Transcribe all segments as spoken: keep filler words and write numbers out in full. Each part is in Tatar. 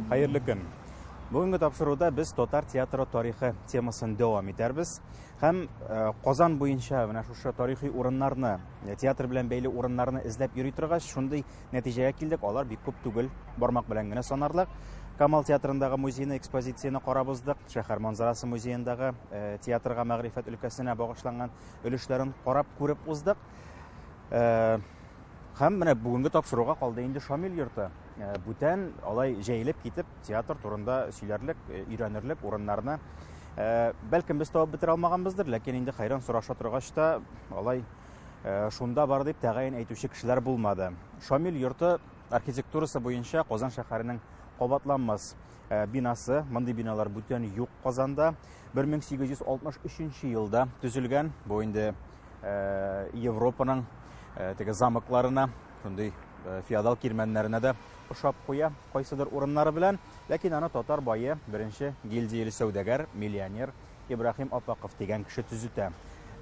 Хәерле көн. Бүгенге тапшыруда без татар театры тарихы темасын дәвам итәрбез. Һәм э, Казан буенча менә шушы тарихи урыннарны, э, театр белән бәйле урыннарны эзләп йөри торгач, шундый нәтиҗәгә килдек. Алар бик күп түгел, бармак белән генә санарлык. Камал театрындагы музейны, экспозицияне карап уздык. Шәһәр манзарасы музеендагы э, театрга, мәгърифәт өлкәсенә багышланган өлешләрен карап күреп уздык. Э, Һәм менә бүгенге тапшыруга калды инде Шамил йорты. Э, Бүтән алай җәелеп китеп театр турында сөйләрлек, э, өйрәнерлек урыннарны э, бәлкем без табып бетерә алмаганбыздыр, ләкин инде хәйран сораша торгач та алай э, шунда бар дип тәгаен әйтүче кешеләр булмады. Шамил йорты архитектурасы буенча Казан шәһәренең кабатланмас э, бинасы. Мондый биналар бүтән юк Казанда. бер мең сигез йөз алтмыш өченче елда төзелгән. Бу инде, э, Европаның, э, теге замокларына, шундый, э, феодал кирмәннәренә дә ошап куя кайсыдыр урыннары белән. Ләкин аны татар бае, беренче гильдияле сәүдәгәр, миллионер Ибраһим Апаков дигән кеше төзетә.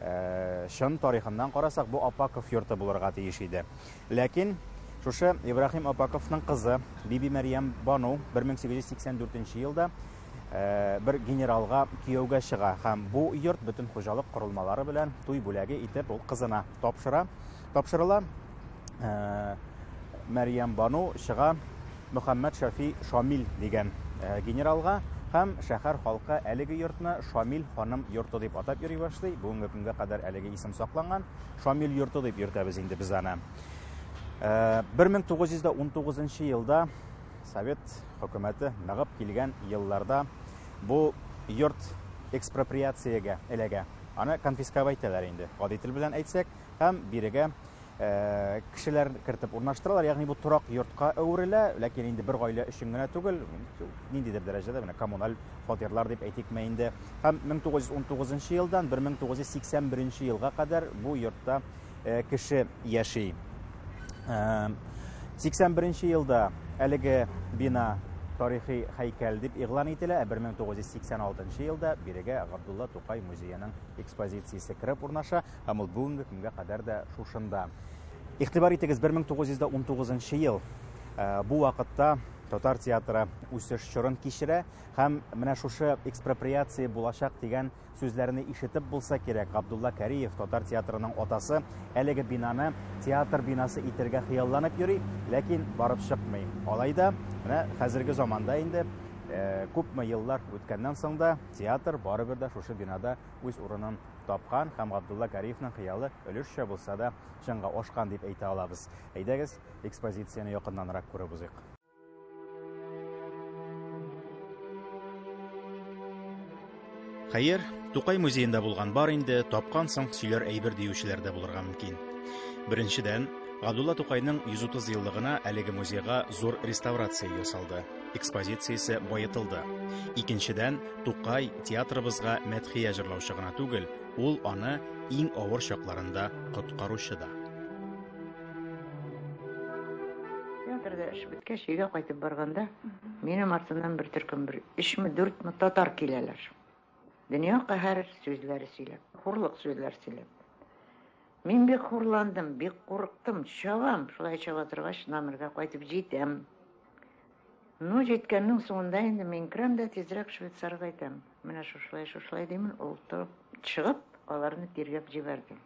Э, чын тарихыннан карасак, бу Апаков йорты булырга тиеш иде. Ләкин шушы Ибраһим Апаковның кызы Биби Мәрьям Бану бер мең сигез йөз сиксән дүртенче елда, э, бер генералга кияүгә чыга һәм бу йорт бөтен хуҗалык корылмалары белән туй бүләге итеп ул кызына тапшыра. Тапшырыла. Э, Мәрьям Бану чыга Мөхәммәд Шафи Шамил дигән, э, генералга һәм шәһәр халкы әлеге йортны Шамил ханым йорты дип атап йөри башлый. Бүгенге көнгә кадәр әлеге исем сакланган. Шамил йорты дип йөртәбез инде без аны. Э, бер мең тугыз йөз дә ун тугызынчы елда Совет хөкүмәте ныгып килгән елларда бу йорт экспроприациягә эләгә. Аны конфисковать итәләр инде, гади тел белән әйтсәк, һәм бирегә, э, кешеләр кертеп урнаштыралар, ягъни бу торак йортка әверелә, ләкин инде бер гаилә өчен генә түгел, ниндидер дәрәҗәдә менә коммуналь фатирлар дип әйтикме инде. Һәм мең тугыз йөз ун тугызынчы елдан бер мең тугыз йөз сиксән беренче елга кадәр бу йортта, э, кеше яши. Э, сиксән беренче елда әлеге бина тарихи һәйкәл дип игълан ителә, ә бер мең тугыз йөз сиксән алтынчы елда бирегә Габдулла Тукай музееның экспозициясе кереп урнаша, һәм ул бүгенге көнгә кадәр дә шушында. Игътибар итегез, бер мең тугыз йөз дә ун тугызынчы ел. Э, бу вакытта татар театры үсеш чорын кичерә һәм менә шушы экспроприация булачак дигән сүзләрне ишетеп булса кирәк, Габдулла Кариев, татар театрының атасы, әлеге бинаны театр бинасы итергә хыялланып йөри, ләкин барып чыкмый. Алай да менә хәзерге заманда инде, э, күпме еллар үткәннән соң да театр барыбер дә шушы бинада үз урынын тапкан һәм Габдулла Кариевның хыялы өлешчә булса да чынга ашкан дип әйтә алабыз. Әйдәгез, экспозицияне якыннанрак күреп узыйк. Хәер, Тукай музеенда булган бар инде, тапкансың сөйләр әйбер диючеләр дә булырга мөмкин. Беренчедән, Габдулла Тукайның йөз утыз еллыгына әлеге музейга зур реставрация ясалды, экспозициясе байытылды. Икенчедән, Тукай театрыбызга мәдхия җырлаучы гына түгел, ул аны иң авыр чакларында коткаручы да. Театрда эш беткәч, өйгә кайтып барганда, минем артымнан бер төркем, бер өчме, дүртме татар киләләр. Дөнья каһәр сүзләре сөйләп, хурлык сүзләр сөйләп. Мин бик хурландым, бик курыктым, чабам, шулай чаба торгач, номерга кайтып җитәм. Ну, җиткәннең соңында инде мин керәм дә тизрәк швейцарга әйтәм. Менә шушылай, шушылай димен, ул торып чыгып, аларны тиргәп җибәрде.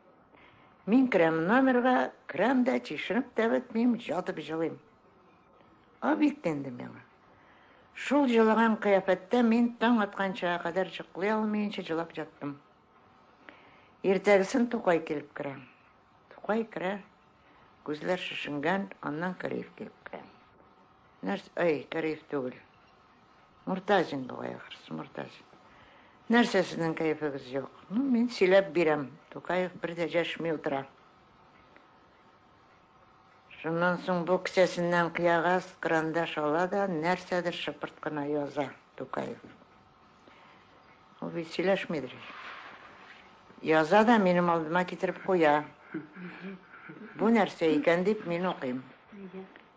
Мин керәм номерга, керәм дә, чишенеп тә бетмим, ятып җылыйм. А бит инде миңа. Шул җылаган кыяфәттә мин таң атканча кадәр йоклый алмыйча җылап яттым. Иртәгесен Тукай килеп керә. Тукай керә, күзләр шешенгән, аннан Кариев килеп керә. Нәрс, ай, Кариев түгел. Муртазин бугай ахрысы, Муртазин. Нәрсә сезнең кәефегез юк? Ну, мин сөйләп бирәм. Тукаев бер дә җәшми утыра. Шуннан соң бу кесәсеннән кыягаз карандаш ала да нәрсәдер шыпырт кына яза Тукаев. Ул бит сөйләшмидер. Яза да минем алдыма китереп куя. Бу нәрсә икән дип мин укыйм.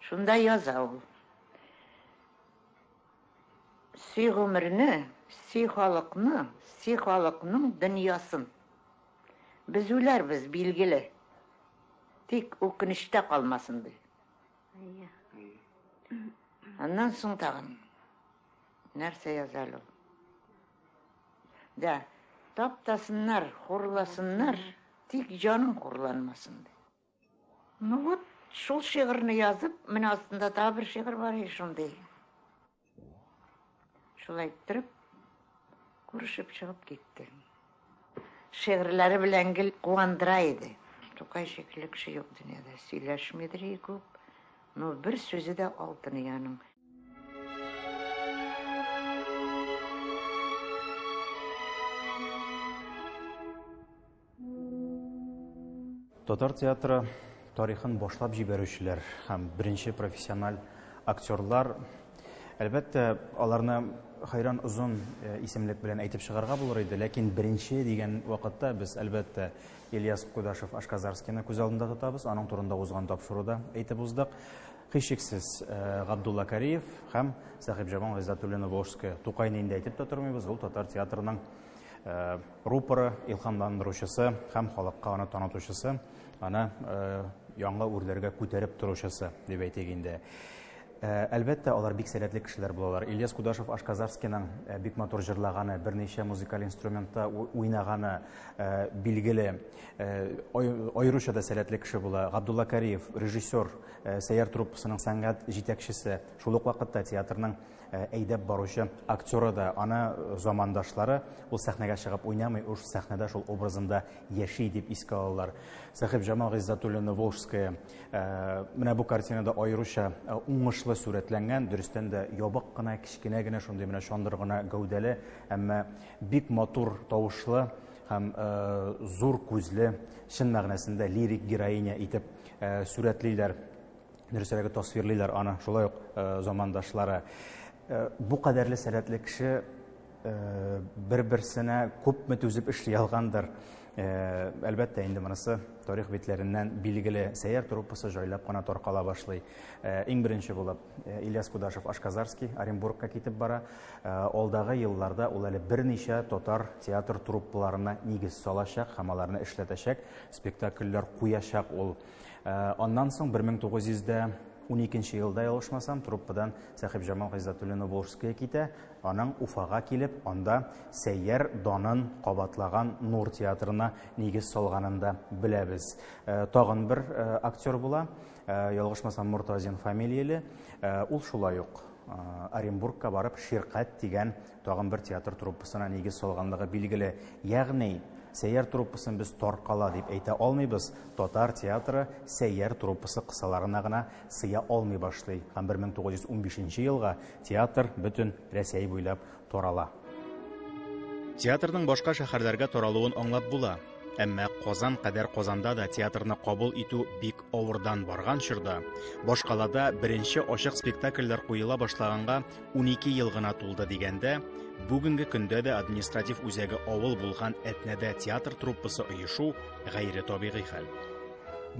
Шунда яза ул. Сөй гомерне, сөй халыкны, сөй халыкның дөньясын. Без үләрбез, билгеле. Тик үкенештә калмасын ди. Аннан соң тагын. Нәрсә яза әле ул? Да, таптасыннар, хурласыннар, тик җаның хурланмасын ди. Ну вот, шул шигырьне язып, менә астында тагы бер шигырь бар иде шундый. Шулай иттереп, күрешеп чыгып китте. Шигырьләре белән гел куандыра иде. Тукай шикелле кеше юк дөньяда. Сөйләшмидер күп, но бер сүзе дә алтын аның. Татар театры тарихын башлап җибәрүчеләр һәм беренче профессиональ актерлар, әлбәттә, аларны хайран озын исемлек белән әйтеп чыгарга булыр иде, ләкин беренче дигән вакытта без, әлбәттә, Ильяс Кудашев Ашказарскийны күз алдында тотабыз, аның турында узган тапшыруда әйтеп уздык. Һичшиксез Габдулла Кариев һәм Сәхибҗамал Гыйззәтуллина Волжская. Тукайны инде әйтеп тә тормыйбыз, ул татар театрының рупоры, илһамландыручысы һәм халыкка аны танытучысы, аны яңа үрләргә күтәреп торучысы дип әйтик инде. Әлбәттә, алар бик сәләтле кешеләр булалар. Ильяс Кудашев Ашказарскийның бик матур җырлаганы, берничә музыкаль инструментта уйнаганы билгеле, аеруча да сәләтле кеше була. Габдулла Кариев, режиссер, Сәйяр труппасының сәнгать җитәкчесе, шул ук вакытта театрның әйдәп баручы актеры да, аны замандашлары ул сәхнәгә чыгып уйнамый, ул сәхнәдә шул образында яши дип искә алалар. Сәхибҗамал Гыйззәтуллина Волжская менә бу картинада аеруча уңышлы сурәтләнгән, дөрестән дә ябык кына, кечкенә генә, шундый менә чандыр гына гәүдәле, әмма бик матур тавышлы һәм зур күзле, чын мәгънәсендә лирик героиня итеп сурәтлиләр, дөресрәге тасвирлыйлар аны шулай ук замандашлары. Бу кадәрле сәләтле кеше бер-берсенә күпме түзеп эшли алгандыр. Әлбәттә, инде монысы тарих битләреннән билгеле. Сәйяр труппасы җайлап кына таркала башлый. Иң беренче булып Ильяс Кудашев Ашказарский Оренбургка китеп бара. Алдагы елларда ул әле берничә татар театр труппаларына нигез салачак һәм аларны эшләтәчәк, спектакльләр куячак ул. Аннан соң бер мең тугыз йөз уникенче елда, ялгышмасам, труппадан Сәхибҗамал Гыйззәтуллина Волжская китә. Аның Уфага килеп, анда Сәйяр данын кабатлаган Нур театрына нигез салганын да беләбез. Тагын бер актер була, ялгышмасам, Муртазин фамилияле. Ул шулай ук Оренбургка барып Ширкат дигән тагын бер театр труппасына нигез салганлыгы билгеле. Ягъни Сәйяр труппасын без таркала дип әйтә алмыйбыз. Татар театры Сәйяр труппасы кысаларына гына сыя алмый башлый. Һәм бер мең тугыз йөз унбишенче елга театр бөтен Рәсәй буйлап тарала. Театрның башка шәһәрләргә таралуын аңлап була. Әмма Казан кадәр Казанда да театрны кабул итү бик авырдан барган чорда, башкалада беренче ачык спектакльләр куела башлаганга унике ел гына тулды дигәндә, бүгенге көндә дә административ үзәге авыл булган Әтнәдә театр труппасы оешу гайре табигый хәл.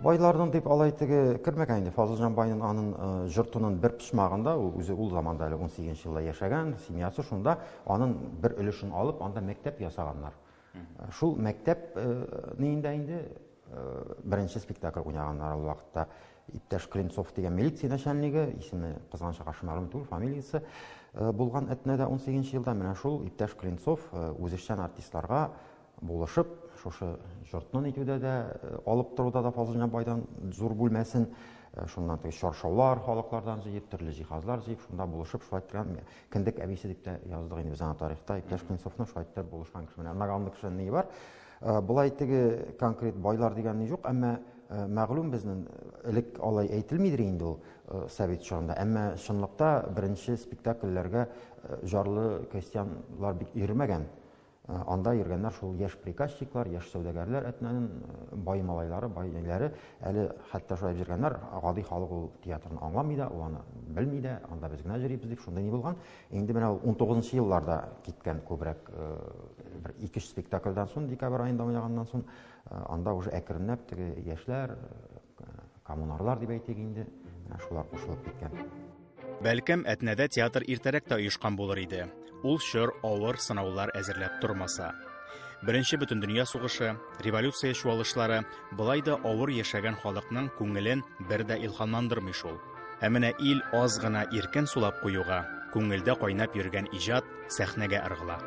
Байларның дип алай теге кермәгән инде. Фазылҗан байның аның йортының бер почмагында, ул үзе ул заманда әле унсигезенче елда яшәгән, семьясы шунда, аның бер өлешен алып, анда мәктәп ясаганнар. Шул мәктәп нинде инде беренче спектакль уйнаганнар ул вакытта. Иптәш Клинцов дигән милиция начальнигы, исеме кызганычка каршы мәгълүм түгел, фамилиясе булган Әтнәдә унсигезенче елда менә шул иптәш Клинцов үзешчән артистларга булышып, шушы йортны итүдә дә, алып торуда да Фазылҗан байдан зур бүлмәсен, шуннан теге чаршаулар халыклардан җыеп, төрле җиһазлар җыеп, шунда булышып, шулай итеп, кендек әбисе дип тә яздык инде без аны тарихта. Иптәш Клинцовның шулай итеп булышкан кеше. Менә наганлы кешенең ни бар? Болай теге конкрет байлар дигән ни юк, әмма мәгълүм безнең элек алай әйтелмидер инде ул совет чорында. Әмма чынлыкта беренче спектакльләргә жарлы крестьяннар бик йөрмәгән. Анда йөргәннәр шул яшь приказчиклар, яшь сәүдәгәрләр, Әтнәнең бай малайлары, бай ниләре, әле хәтта шулай йөргәннәр, гади халык ул театрны аңламый да, ул аны белми дә, анда без генә йөрибез дип шундый ни булган. Инде менә ул унтугызынчы елларда киткән күбрәк бер ике-өч спектакльдән соң, декабрь аенда уйнаганнан соң, анда уже әкренләп теге яшьләр, коммунарлар дип әйтик инде, менә шулар кушылып киткән. Бәлкем, Әтнәдә театр иртәрәк тә оешкан булыр иде. Ул чор авыр сынаулар әзерләп тормаса. Беренче бөтендөнья сугышы, революция чуалышлары былай да авыр яшәгән халыкның күңелен бер дә илһамландырмый шул. Ә менә ил аз гына иркен сулап куюга, Күңелдә кайнап йөргән иҗат сәхнәгә ыргыла.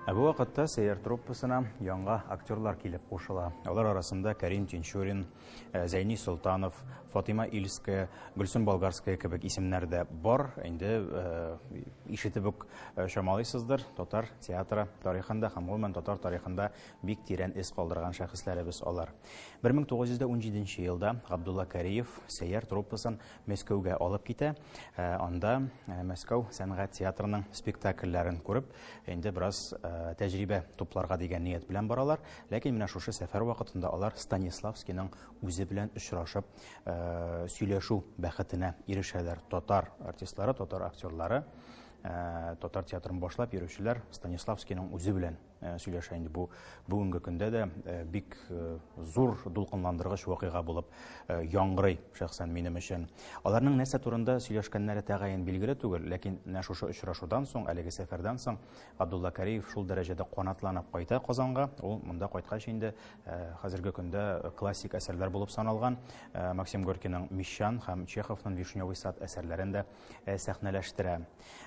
Ә бу вакытта Сәйяр труппасына яңа актерлар килеп кушыла. Алар арасында Карим Тинчурин, Зәйни Солтанов, Фатима Ильская, Гөлсем Болгарская кебек исемнәр дә бар. Инде ишетеп үк чамалыйсыздыр, татар театры тарихында һәм гомумән татар тарихында бик тирән эз калдырган шәхесләребез алар. бер мең тугыз йөз ун җиденче елда Габдулла Кариев Сәйяр труппасын Мәскәүгә алып китә. Анда Мәскәү сәнгать театрының спектакльләрен күреп, инде бераз тәҗрибә тупларга дигән ният белән баралар. Ләкин менә шушы сәфәр вакытында алар Станиславскийның үзе белән очрашып сөйләшү бәхетенә ирешәләр. Татар артистлары, татар актерлары, татар театрын башлап йөрүчеләр Станиславскийның үзе белән сөйләшә. Инде бу бүгенге көндә дә бик зур дулкынландыргыч вакыйга булып яңгырый шәхсән минем өчен. Аларның нәрсә турында сөйләшкәннәре тәгаен билгеле түгел, ләкин менә шушы очрашудан соң, әлеге сәфәрдән соң Габдулла Кариев шул дәрәҗәдә канатланып кайта Казанга. Ул монда кайткач инде хәзерге көндә классик әсәрләр булып саналган Максим Горькийның Мещан һәм Чеховның Вишневый сад әсәрләрен дә сәхнәләштерә.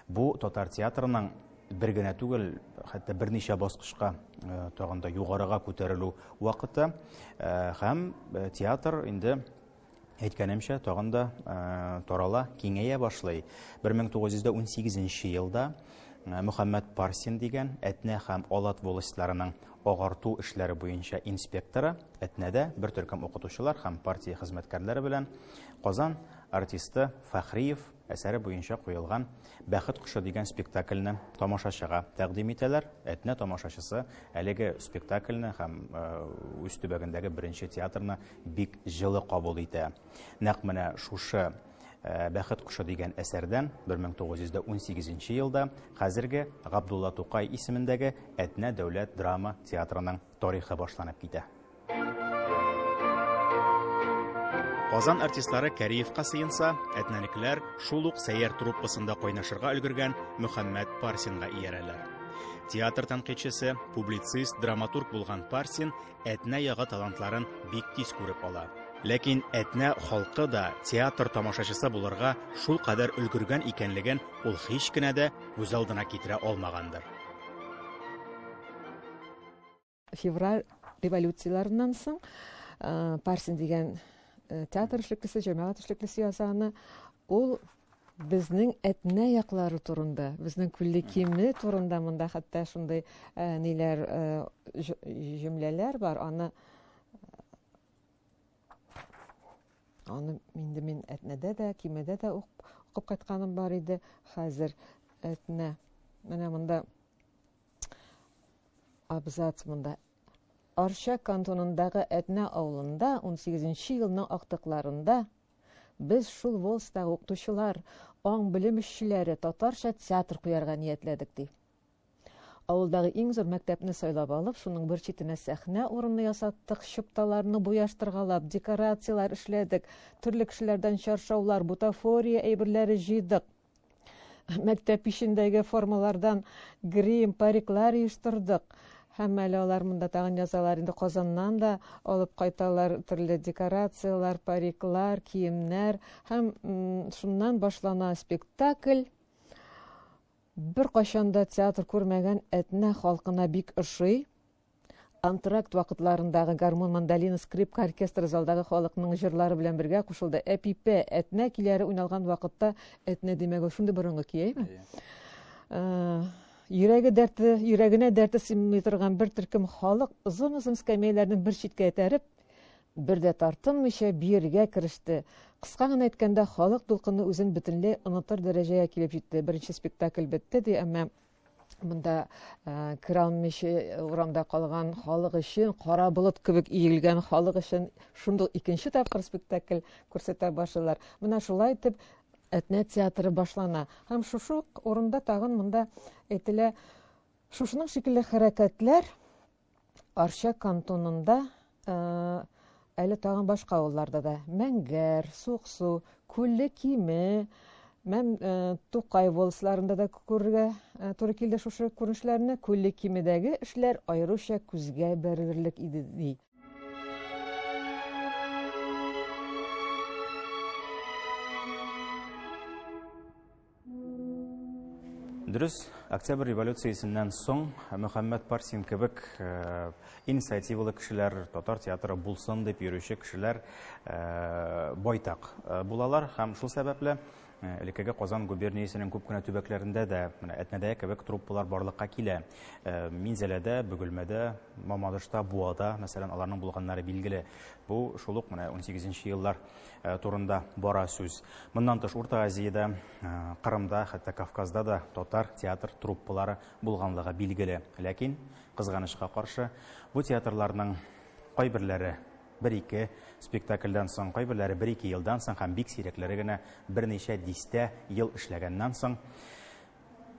Бу татар театрының бер генә түгел, хәтта берничә баскычка тагын да югарыга күтәрелү вакыты һәм театр инде әйткәнемчә тагын да тарала, киңәя башлый. бер мең тугыз йөз ун сигезенче елда Мөхәммәд Парсин дигән Әтнә һәм Алат волостьларының агарту эшләре буенча инспекторы Әтнәдә бер төркем укытучылар һәм партия хезмәткәрләре белән Казан артисты Фәхриев әсәре буенча куелган Бәхет кошы дигән спектакльне тамашачыга тәкъдим итәләр. Әтнә тамашачысы әлеге спектакльне һәм үз төбәгендәге беренче театрны бик җылы кабул итә. Нәкъ менә шушы Бәхет кошы дигән әсәрдән бер мең тугыз йөз ун сигезенче елда хәзерге Габдулла Тукай исемендәге Әтнә дәүләт драма театрының тарихы башланып китә. Казан артистлары Кариевка сыенса, әтнәнекләр шул ук Сәйяр труппасында кайнашырга өлгергән Мөхәммәд Парсинга иярәләр. Театр тәнкыйтьчесе, публицист, драматург булган Парсин Әтнә ягы талантларын бик тиз күреп ала. Ләкин Әтнә халкы да театр тамашачысы булырга шул кадәр өлгергән икәнлеген ул һич кенә дә күз алдына китерә алмагандыр. Февраль революцияларыннан соң Парсин дигән театр эшлеклесе, җәмәгать эшлеклесе язаны, ул безнең Әтнә яклары турында, безнең Күлле Киме турында монда хәтта шундый ниләр, җөмләләр бар. Аны Аны инде мин Әтнәдә дә, Кимедә дә укып кайтканым бар иде. Хәзер Әтнә. Менә монда абзац монда. Арча кантонындагы Әтнә авылында ун сигезенче елның актыкларында без шул волстагы укытучылар, аң белем эшчеләре татарча театр куярга ниятләдек, ди. Авылдагы иң зур мәктәпне сайлап алып, шуның бер читенә сәхнә урыны ясаттык, чыпталарны буяштыргалап, декорацияләр эшләдек, төрле кешеләрдән чаршаулар, бутафория әйберләре җыйдык. Мәктәп эчендәге формалардан грим, париклар оештырдык. Һәм әле алар монда тагын язалар, инде Казаннан да алып кайталар төрле декорацияләр, париклар, киемнәр. Һәм шуннан башлана спектакль. Бер кайчан да театр күрмәгән Әтнә халкына бик ошый. Антракт вакытларындагы гармун, мандолина, скрипка оркестры залдагы халыкның җырлары белән бергә кушылды. Әпипә, Әтнә көйләре уйналган вакытта Әтнә димәге шундый борынгы көй, әйме? Йөрәге дәрте, йөрәгенә дәрте сыймый торган бер төркем халык озын-озын скамеяләрне бер читкә этәреп, бер дә тартынмыйча биергә кереште. Кыска гына әйткәндә, халык дулкыны үзен бөтенләй онытыр дәрәҗәгә килеп җитте. Беренче спектакль бетте ди, әмма монда керә алмыйча урамда калган халык өчен, кара болыт кебек иелгән халык өчен шундый икенче тапкыр спектакль күрсәтә башлыйлар. Менә шулай итеп Әтнә театры башлана. Һәм шушы ук урында тагын монда әйтелә, шушының шикелле хәрәкәтләр Арча кантонында, әле тагын башка авылларда да, Мәңгәр, Суксу, Күлле Киме, Мәм, Тукай волосларында да күрергә туры килде шушы күренешләрне. Күлле Кимедәге эшләр аеруча күзгә бәрелерлек иде, ди. Дөрес, Октябрь революциясеннән соң Мөхәммәт Парсин кебек инициативалы кешеләр, татар театры булсын дип йөрүче кешеләр байтак булалар һәм шул сәбәпле элеккеге Казан губерниясенең күп кенә төбәкләрендә дә менә Әтнәдә кебек труппалар барлыкка килә. Минзәләдә, Бөгелмәдә, Мамадышта, Буада, мәсәлән, аларның булганнары билгеле. Бу шул ук менә унсигезенче еллар турында бара сүз. Моннан тыш Урта Азиядә, Кырымда, хәтта Кавказда да татар театр труппалары булганлыгы билгеле. Ләкин кызганычка каршы бу театрларның кайберләре бер-ике спектакльдән соң, кайберләре бер-ике елдан соң һәм бик сирәкләре генә берничә дистә ел эшләгәннән соң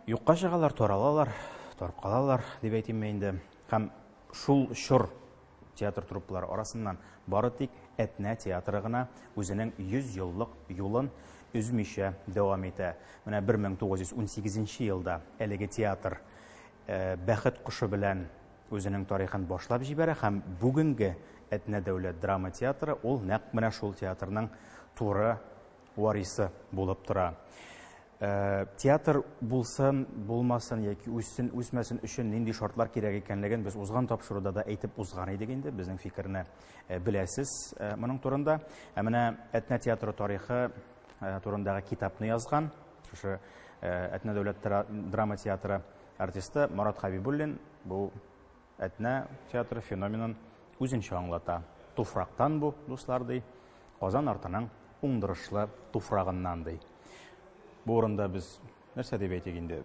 юкка чыгалар, таралалар, таркалалар дип әйтимме инде. Һәм шул чор театр труппалары арасыннан бары тик Әтнә театры гына үзенең йөз еллык юлын өзмичә дәвам итә. Менә бер мең тугыз йөз унсигезенче елда әлеге театр Бәхет кошы белән үзенең тарихын башлап җибәрә һәм бүгенге Әтнә дәүләт драма театры ул нәкъ менә шул театрның туры варисы булып тора. Театр булсын, булмасын яки үссен, үсмәсен өчен нинди шартлар кирәк икәнлеген без узган тапшыруда да әйтеп узган идек инде, безнең фикерне беләсез моның турында. Ә менә Әтнә театры тарихы турындагы китапны язган шушы Әтнә дәүләт драма театры артисты Марат Хабибуллин бу Әтнә театры феноменын үзенчә аңлата. Туфрактан бу, дуслар, ди, Казан артының уңдырышлы туфрагыннан, ди. Бу урында без нәрсә дип әйтик инде?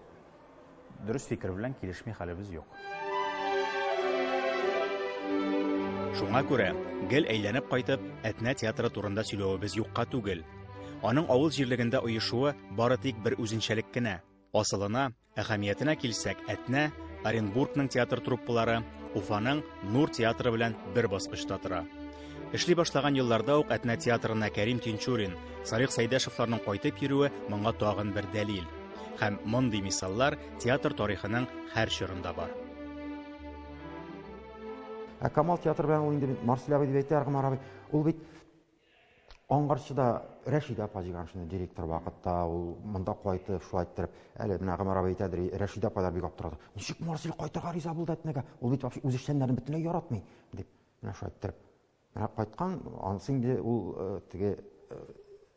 Дөрес фикер белән килешми хәлебез юк. Шуңа күрә гел әйләнеп кайтып Әтнә театры турында сөйләвебез юкка түгел. Аның авыл җирлегендә оешуы бары тик бер үзенчәлек кенә. Асылына, әһәмиятенә килсәк, Әтнә Оренбургның театр труппалары, Уфаның Нур театры белән бер баскычта тора. Эшли башлаган елларда ук Әтнә театрына Кәрим Тинчурин, Салих Сәйдәшевларның кайтып йөрүе моңа тагын бер дәлил. Һәм мондый мисаллар театр тарихының һәр чорында бар. Ә Камал театры белән ул инде Марсель абый дип әйтә, Гомәр абый, ул бит Аңгарчыда Рәшидә апа Җиганшина директор вакытта ул монда кайтып, шулай иттереп, әле менә Гомәр абый әйтәдер, Рәшидә апайлар бик аптырады. Ничек Марсель кайтырга риза булды Әтнәгә? Ул бит вообще үз эшчәннәрен бөтенләй яратмый, дип. Менә шулай иттереп. Менә кайткан, анысы инде ул теге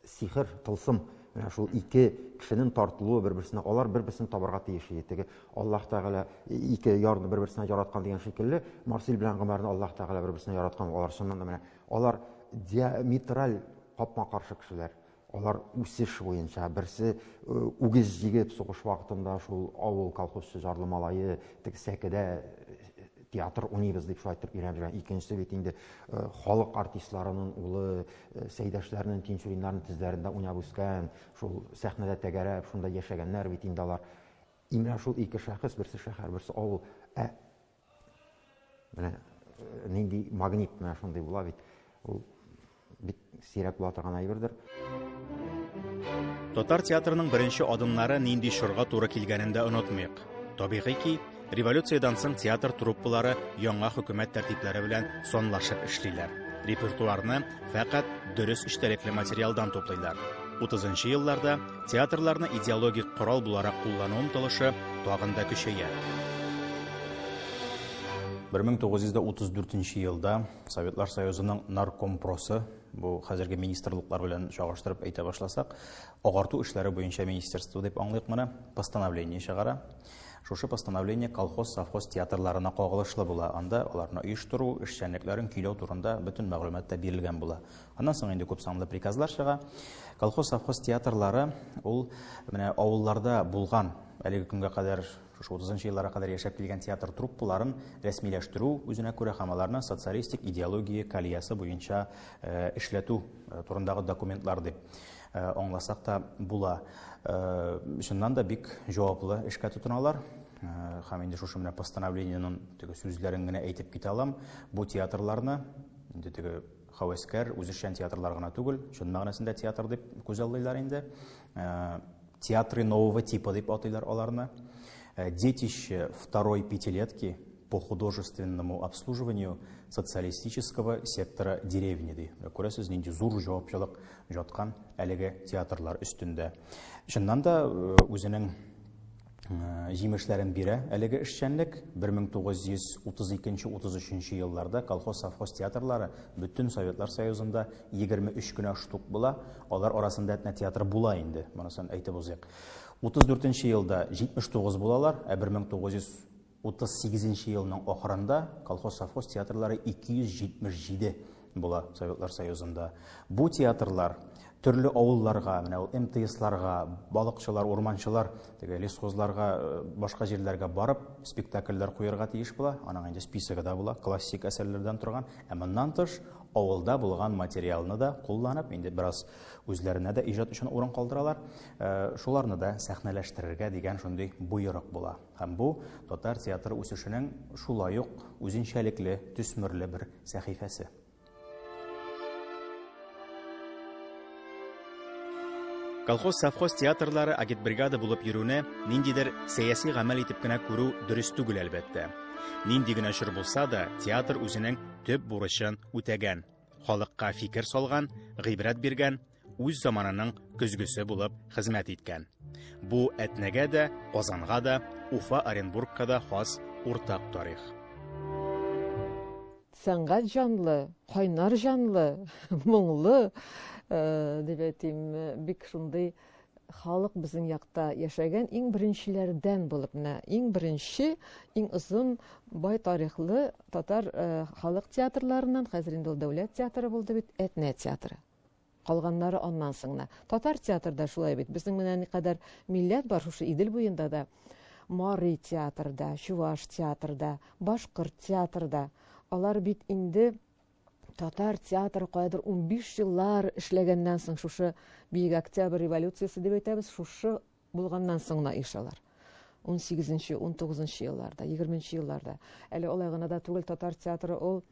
сихер, тылсым, менә шул ике кешенең тартылуы бер-берсенә, алар бер-берсен табарга тиеш иде. Теге Аллаһ Тәгалә ике ярны бер-берсенә яраткан дигән шикелле, Марсель белән Гомәрне Аллаһ Тәгалә бер-берсенә яраткан. Алар чыннан да менә алар диаметраль капма-каршы кешеләр. Алар үсеш буенча берсе үгез җигеп сугыш вакытында шул авыл колхозчы жарлы малае теге сәкедә театр уйныйбыз дип шулай итеп өйрәнеп йөргән. Икенчесе бит инде халык артистларының улы, Сәйдәшләрнең, Тинчуриннарның тезләрендә уйнап үскән, шул сәхнәдә тәгәрәп, шунда яшәгәннәр бит инде алар. Менә шул ике шәхес, берсе шәһәр, берсе авыл. Ә менә нинди магнит менә шундый була бит. Ул бик сирәк була торган әйбердер. Татар театрының беренче адымнары нинди чорга туры килгәнен дә онытмыйк. Табигый ки, революциядән соң театр труппалары яңа хөкүмәт тәртипләре белән санлашып эшлиләр. Репертуарны фәкать дөрес эчтәлекле материалдан туплыйлар. Утызынчы елларда театрларны идеологик корал буларак куллану омтылышы тагын да көчәя. Бер мең тугыз йөз утыз дүртенче елда Советлар Союзының наркомпросы, бу хәзерге министрлыклар белән чагыштырып әйтә башласак, агарту эшләре буенча министерство дип аңлыйк моны, постановление чыгара. Шушы постановление колхоз, совхоз театрларына кагылышлы була. Анда аларны оештыру, эшчәнлекләрен көйләү турында бөтен мәгълүмат та бирелгән була. Аннан соң инде күп санлы приказлар чыга. Колхоз, совхоз театрлары ул менә авылларда булган, әлеге көнгә кадәр, шушы утызынчы елларга кадәр яшәп килгән театр труппаларын рәсмиләштерү, үзенә күрә һәм аларны социалистик идеология колеясы буенча эшләтү турындагы документлар дип аңласак та була. Чыннан да бик җаваплы эшкә тотыналар. Һәм инде шушы менә постановлениенең теге сүзләрен генә әйтеп китә алам. Бу театрларны инде теге һәвәскәр, үзешчән театрлар гына түгел, чын мәгънәсендә театр дип күзаллыйлар инде. Театры нового типа дип атыйлар аларны. Детище второй пятилетки по художественному обслуживанию социалистического сектора деревни ди. Күрәсез, нинди зур җаваплылык жаткан әлеге театрлар өстендә. Чыннан да үзенең җимешләрен бирә әлеге эшчәнлек. Бер мең тугыз йөз утыз икенче, утыз өченче елларда колхоз-совхоз театрлары бөтен Советлар Союзында егерме өч кенә штук була. Алар арасында Әтнә театры була инде, монысын әйтеп узыйк. Утыз дүртенче елда җитмеш тугыз булалар, ә бер мең тугыз йөз утыз сигезенче елның ахырында колхоз-совхоз театрлары ике йөз җитмеш җиде була Советлар Союзында. Бу театрлар төрле авылларга, менә ул эм тэ эсларга, балыкчылар, урманчылар, теге лесхозларга, башка җирләргә барып спектакльләр куярга тиеш була. Аның инде списогы да була, классик әсәрләрдән торган. Ә моннан тыш авылда булган материалны да кулланып, инде бераз үзләренә дә иҗат өчен урын калдыралар. Э, шуларны да сәхнәләштерергә дигән шундый боерык була. Һәм бу татар театры үсешенең шулай ук үзенчәлекле, төсмерле бер сәхифәсе. Колхоз-совхоз театрлары агитбригада булып йөрүне ниндидер сәяси гамәл итеп кенә күрү дөрес түгел, әлбәттә. Нинди генә чор булса да, театр үзенең төп бурычын үтәгән, халыкка фикер салган, гыйбрәт биргән, үз заманының көзгесе булып хезмәт иткән. Бу Әтнәгә дә, Казанга да, Уфа, Оренбургка да хас уртак тарих. Сәнгать җанлы, кайнар җанлы, моңлы, э, дип әйтим, бик шундый халык безнең якта яшәгән иң беренчеләрдән булып, менә иң беренче, иң озын бай тарихлы татар, э, халык театрларыннан, хәзер инде ул дәүләт театры булды бит, Әтнә театры. Калганнары аннан соң гына. Татар театрда шулай бит. Безнең менә никадәр милләт бар шушы Идел буенда да. Мари театрда, Чуваш театрда, Башкорт театрда. Алар бит инде татар театры каядыр унбиш еллар эшләгәннән соң шушы Бөек Октябрь революциясе дип әйтәбез, шушы булганнан соң гына оешалар. Ун сигезенче, ун тугызынчы елларда, егерменче елларда. Әле алай гына да түгел, татар театры ул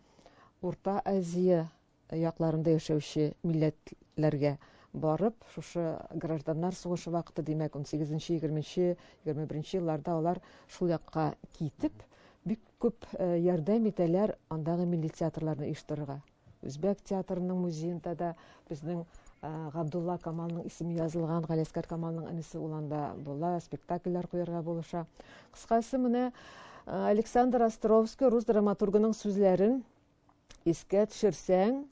Урта Азия якларында яшәүче милләтләргә барып, шушы гражданнар сугышы вакыты, димәк, ун сигезенче, егерменче, егерме беренче елларда алар шул якка китеп, бик күп, э, ярдәм итәләр андагы милли театрларны оештырырга. Үзбәк театрының музеенда да безнең, э, Габдулла Камалның исеме язылган, Галиәсгар Камалның энесе ул анда була, спектакльләр куярга булыша. Кыскасы, менә, э, Александр Островский рус драматургының сүзләрен искә төшерсәң,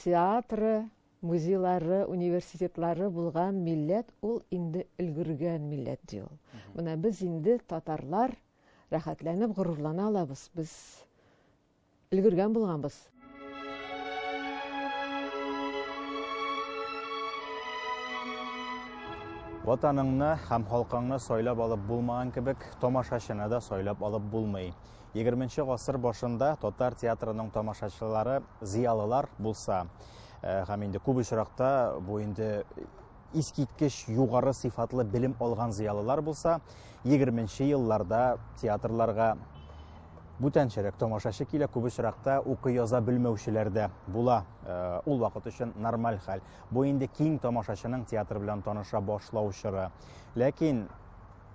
театры, музейлары, университетлары булган милләт ул инде өлгергән милләт ди ул. Мгм. Менә без инде татарлар рәхәтләнеп горурлана алабыз. Без өлгергән булганбыз. Ватаныңны һәм халкыңны сайлап алып булмаган кебек, тамашачыны да сайлап алып булмый. Егерменче гасыр башында татар театрының тамашачылары зыялылар булса, э, һәм инде күп очракта бу инде искиткеч югары сыйфатлы белем алган зыялылар булса, егерменче елларда театрларга бүтәнчәрәк тамашачы килә, күп очракта укый яза белмәүчеләр дә була. Э, ул вакыт өчен нормаль хәл. Бу инде киң тамашачының театр белән таныша башлау чоры. Ләкин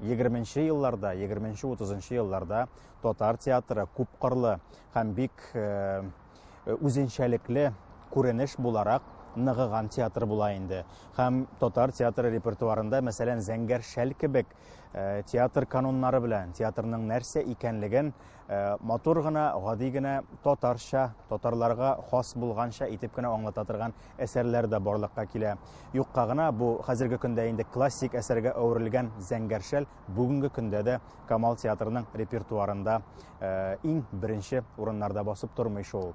егерменче елларда, егерменче, утызынчы елларда татар театры күпкырлы һәм бик, э, үзенчәлекле күренеш буларак ныгыган театр була инде. Һәм татар театры репертуарында, мәсәлән, Зәңгәр шәл кебек, э, театр кануннары белән театрның нәрсә икәнлеген, э, матур гына, гади генә татарча, татарларга хас булганча итеп кенә аңлата торган әсәрләр дә барлыкка килә. Юкка гына бу хәзерге көндә инде классик әсәргә әверелгән Зәңгәр шәл бүгенге көндә дә Камал театрының репертуарында, э, иң беренче урыннарда басып тормый шул.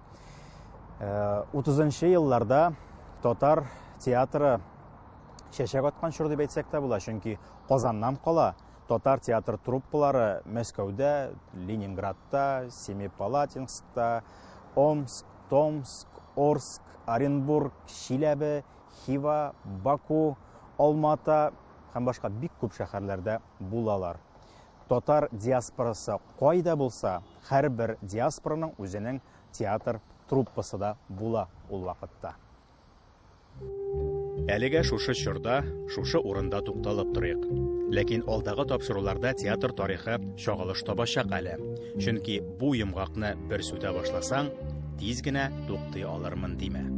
Э, утызынчы елларда татар театры чәчәк аткан чор дип әйтсәк тә була, чөнки Казаннан кала татар театр труппалары Мәскәүдә, Ленинградта, Семипалатинскта, Омск, Томск, Орск, Оренбург, Чиләбе, Хива, Баку, Алмата һәм башка бик күп шәһәрләрдә булалар. Татар диаспорасы кайда булса, һәрбер диаспораның үзенең театр труппасы да була ул вакытта. Әлегә шушы чорда, шушы урында тукталып торыйк. Ләкин алдагы тапшыруларда театр тарихы чагылыш табачак әле. Чөнки бу йомгакны бер сүтә башласаң, тиз генә туктый алырмын димә.